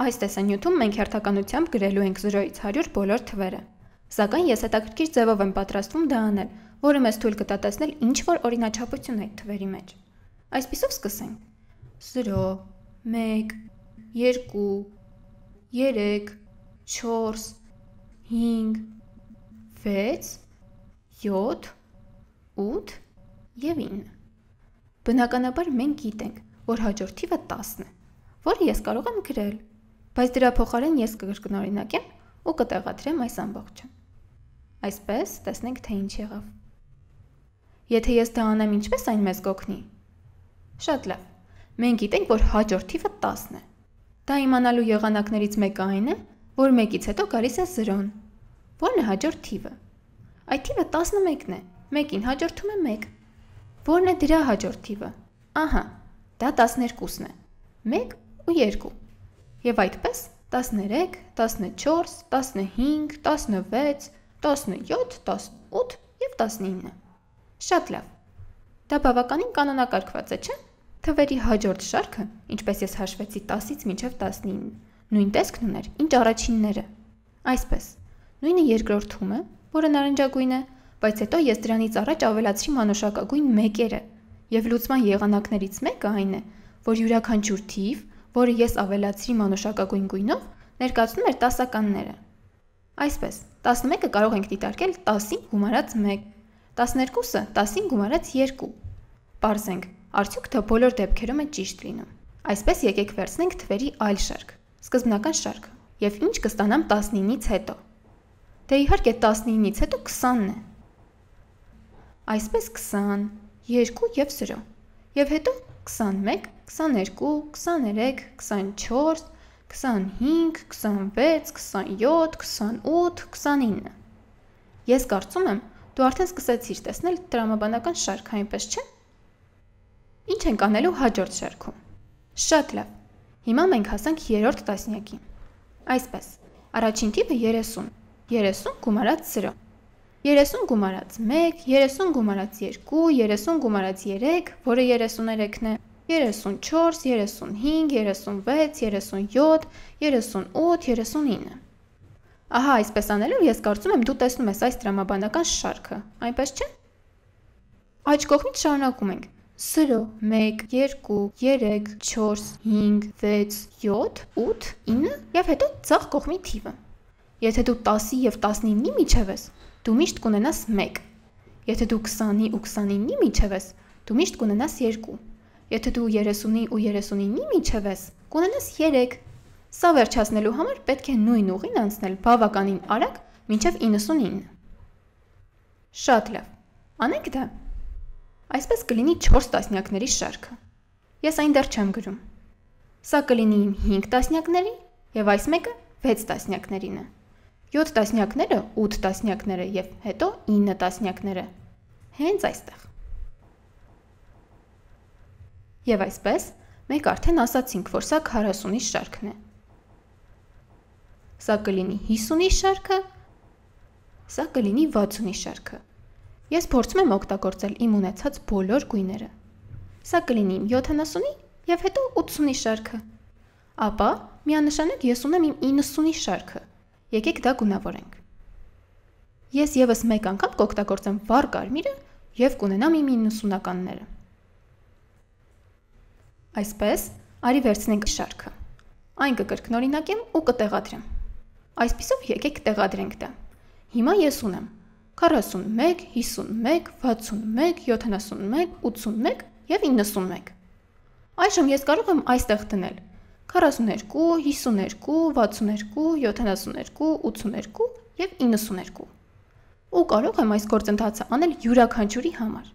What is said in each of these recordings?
Այս տեսանյութում մենք հերթականությամբ գրելու ենք 0-ից 100 բոլոր թվերը, սակայն ես հետաքրքիր ձևով եմ պատրաստվում դա անել, որը մեզ թույլ կտա տեսնել ինչ-որ օրինաչափություն այդ թվերի մեջ։ Այսպիսով սկսենք. 0, 1, 2, 3, 4, 5, 6, 7, 8 և 9։ Բնականաբար մենք գիտենք, որ հաջորդ թիվը 10 է, որը ես կարող եմ գրել, բայց դրա փոխարեն ես կկրկնօրինակեմ ու կտեղադրեմ այս ամբողջը։ Այսպես տեսնենք, թե ինչ եղավ։ Եթե ես դա անեմ, ինչպես այն մեզ կօգնի։ Շատ լավ, մենք գիտենք, որ հաջորդ թիվը 10 է։ Դա իմանալու եղանակներից մեկը այն է, որ 1-ից հետո գալիս է 0-ն։ Ո՞րն է հաջորդ թիվը։ Այդ թիվը 11-ն է, 1-ին հաջորդում է 1։ Ո՞րն է դրա հաջորդ թիվը։ Ահա, դա 12-ն է, 1 ու 2։ Եվ այդպես 13, 14, 15, 16, 17, 18 և 19։ Շատ լավ։ Դա բավականին կանոնակարգված է, չէ՞։ Թվերի հաջորդ շարքը, ինչպես ես հաշվեցի 10-ից մինչև 19, նույն տեսքն ուներ, ինչ առաջինները։ Այսպես, նույնը երկրորդում է, որը նարնջագույն է, բայց հետո ես դրանից առաջ ավելացրի մանուշակագույն մեկերը, և լուծման եղանակներից մեկը այն է, որ յուրաքանչյուր թիվ, որը ես ավելացրի մանուշակագույն գույնով, ներկայացնում էր տասականները։ Այսպես, 11-ը կարող ենք դիտարկել 10-ին գումարած 1, 12-ը 10-ին գումարած 2։ Պարզենք, արդյոք դա բոլոր դեպքերում է ճիշտ լինում։ Այսպես եկեք վերցնենք թվերի այլ շարք, սկզբնական շարքը, և ինչ կստանամ 19-ից հետո։ Դե իհարկե 19-ից հետո 20-ն է։ Այսպես 20, 2 և 0, և հետո 21, 22, 23, 24, 25, 26, 27, 28, 29։ Ես կարծում եմ, դու արդեն սկսեցիր տեսնել տրամաբանական շարքը, այնպես չէ՞։ Ինչ ենք անելու հաջորդ շարքում։ Շատ լավ։ Հիմա մենք հասանք 3-րդ տասնյակին։ Այսպես, առաջին թիվը 30, 30 գումարած 0, 30 գումարած 1, 30 գումարած 2, 30 գումարած 3, որը 33-ն է, 34, 35, 36, 37, 38, 39։ Ահա, այսպես անելով ես կարծում եմ դու տեսնում ես այս տրամաբանական շարքը, այնպես չէ՞։ Աջ կողմից շարունակում ենք 0, 1, 2, 3, 4, 5, 6, 7, 8, 9 և հետո ձախ կողմի թիվը։ Եթե դու 10-ի և 19-ի միջև ես, դու միշտ կունենաս 1։ Եթե դու 20-ի ու 29-ի միջև ես, դու միշտ կունենաս 2։ Եթե դու 30-ի ու 39-ի միջև ես, կունենաս 3։ Սա վերջացնելու համար պետք է նույն ուղին անցնել բավականին արագ մինչև 99։ Շատ լավ, անենք դա։ Այսպես կլինի 4 տասնյակների շարքը։ Ես այն դեռ չեմ գրում։ Սա կլինի իմ 5 տասնյակների և այս մեկը 6 տասնյակներին է։ 7 տասնյակները 8 տասնյակները և հետո 9 տասնյակները։ Հենց այստեղ։ Եվ այսպես, մենք արդեն ասացինք, որ սա 40-ի շարքն է։ Սա կլինի 50-ի շարքը, սա կլինի 60-ի շարքը։ Ես փորձում եմ օգտագործել իմ ունեցած բոլոր գույները։ Սա կլինի իմ 70-ի և հետո 80-ի շարքը։ Ապա միանշանակ ես ունեմ իմ 90-ի շարքը։ Եկեք դա գունավորենք։ Ես ևս մեկ անգամ կօգտագործեմ վառ կարմիրը և կունենամ իմ 90-ականները։ Այսպես, արի վերցնենք շարքը։ Այն կկրկնօրինակեմ ու կտեղադրեմ։ Այսպիսով եկեք տեղադրենք դա։ Հիմա ես ունեմ 41, 51, 61, 71, 81 և 91։ Այժմ ես կարող եմ այստեղ դնել 42, 52, 62, 72, 82 և 92։ Ու կարող եմ այս գործընթացը անել յուրաքանչյուրի համար։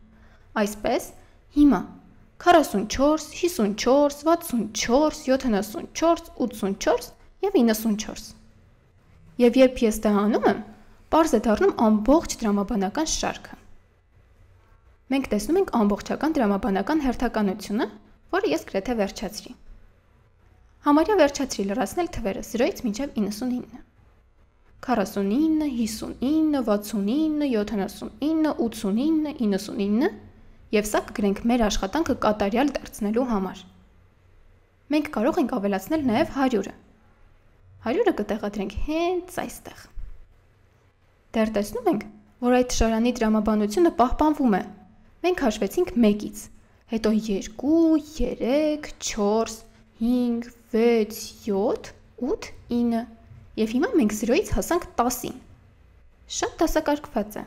Այսպես, հիմա 44, 54, 64, 74, 84 և 94։ Եվ երբ ես դա անում եմ, պարզ է դառնում ամբողջ տրամաբանական շարքը։ Մենք տեսնում ենք ամբողջական տրամաբանական հերթականությունը, որը ես գրեթե վերջացրի։ Համարյա վերջացրի լրացնել թվերը 0-ից մինչև 99։ 49, 59, 69, 79, 89, 99 և սա կգրենք մեր աշխատանքը կատարյալ դարձնելու համար։ Մենք կարող ենք ավելացնել նաև 100-ը։ 100-ը կտեղադրենք հենց այստեղ։ Դեռ տեսնում ենք, որ այդ շարանի տրամաբանությունը պահպանվում է։ Մենք հաշվեցինք 1-ից, հետո 2, 3, 4, 5, 6, 7, 8, 9 և հիմա մենք 0-ից հասանք 10-ին։ Շատ դասակարգված է։